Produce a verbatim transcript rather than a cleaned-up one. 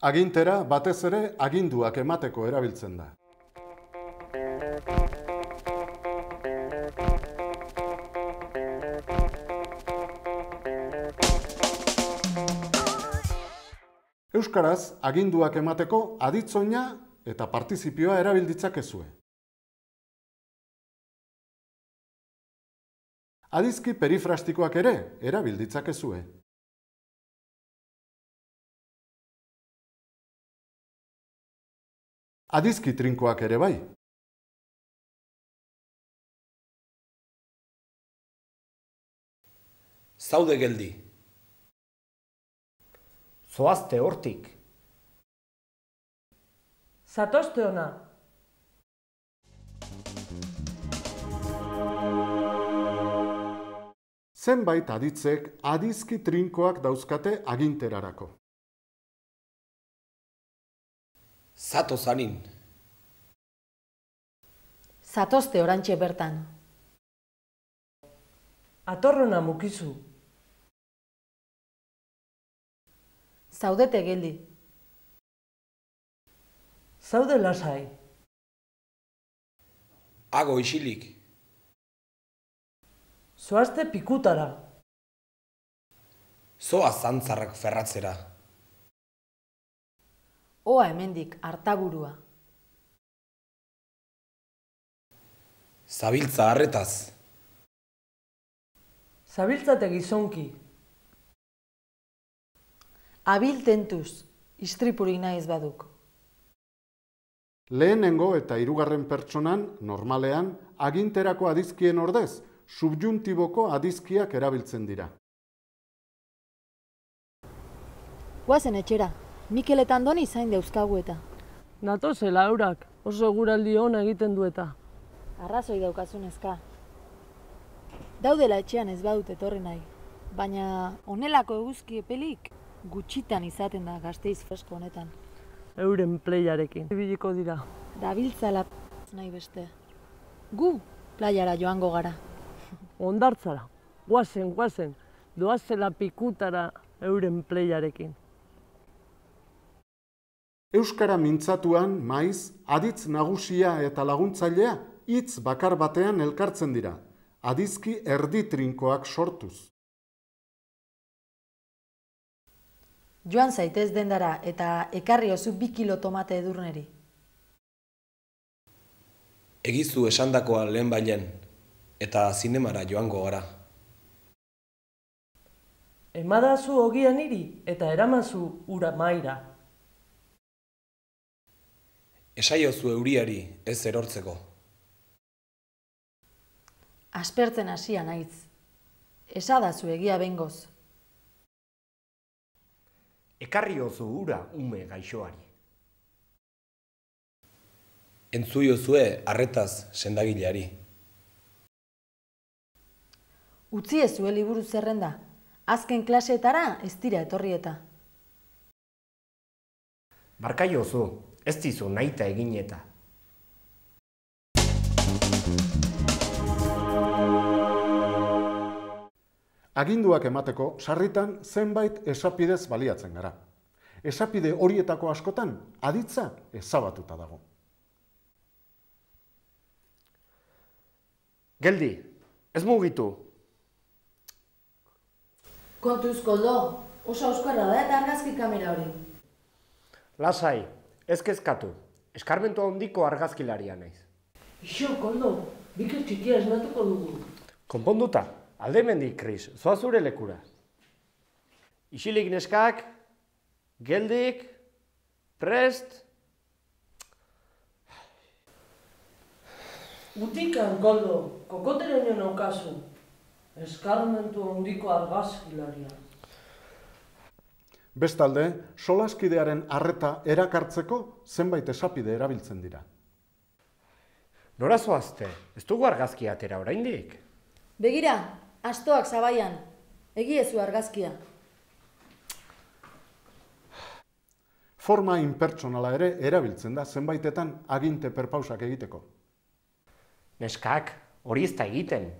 Agintera batez ere aginduak emateko erabiltzen da. Euskaraz, aginduak emateko aditzoina eta partizipioa erabil ditzakezue. Adizki perifrastikoak ere erabil ditzakezue. Adizki trinkoak ere bai. Zaude geldi. Zoazte hortik. Zatozte ona. Zenbait aditzek adizki trinkoak dauzkate aginterarako. Zato zanin. Zatozte orantxe bertan. Atorrona mukizu. Zaudete geldi. Zaude lasai. Hago isilik. Zoazte pikutara. Zoa zantzarrak ferratzera. Oa hemendik artaburua. Zabiltza harretaz. Zabiltzate gizonki. Abil tentuz, istripurik nahi ez baduk. Lehenengo eta hirugarren pertsonan, normalean, aginterako adizkien ordez, subjuntiboko adizkiak erabiltzen dira. Guazen etxera, Mikel eta Andoni zain dauzkagu eta. Natozela eurak, oso eguraldi ona egiten dueta. Arrazoi daukazunezka. Daudela etxean ez badut etorri nahi, baina honelako eguzki epelik gutxitan izaten da Gasteiz fresko honetan. Euren playarekin. Ibiliko dira. Dabiltzala nahi beste. Gu playara joango gara. Ondartzara. Guazen, guazen. Doazela pikutara euren playarekin. Euskara mintzatuan, maiz, aditz nagusia eta laguntzailea hitz bakar batean elkartzen dira, adizki erdi trinkoak sortuz. Joan zaitez dendara eta ekarri oso bi kilo tomate edurneri. Egizu esandakoa lehen bailen, eta zinemara joango gara. Emadazu ogia niri eta eramazu ura maira. Esaiozu euriari ez erortzeko. Aspertzen hasia naiz. Esadazu egia bengoz. Ekarriozu ura ume gaixoari. Entzuiozue arretaz sendagileari. Utzi ezue liburu zerrenda. Azken klaseetara ez dira etorrieta. Barkaiozu, ez dizu nahita egin eta. Aginduak emateko sarritan zenbait esapidez baliatzen gara. Esapide horietako askotan aditza ezabatuta dago. Geldi, ez mugitu. Kontuz, Koldo, oso euskarra da eta argazki kamera hori. Lasai, ez kezkatu. Eskarmentu handiko argazkilaria naiz. Ixo, Koldo, Mikel txikia esnatuko dugu. Konponduta, alde mendik, Kris, zoa zure lekura. Isilik neskak, geldik, prest. Utikan, Koldo, kokoteraino naukazu. Eskarmentu handiko argazkilaria. Bestalde, solaskidearen arreta erakartzeko zenbait esapide erabiltzen dira. Nora zoazte, ez dugu argazkia atera oraindik? Begira, astoak zabaian, egiezu argazkia. Forma inpertsonala ere erabiltzen da zenbaitetan aginte perpausak egiteko. Neskak, hori ez da egiten.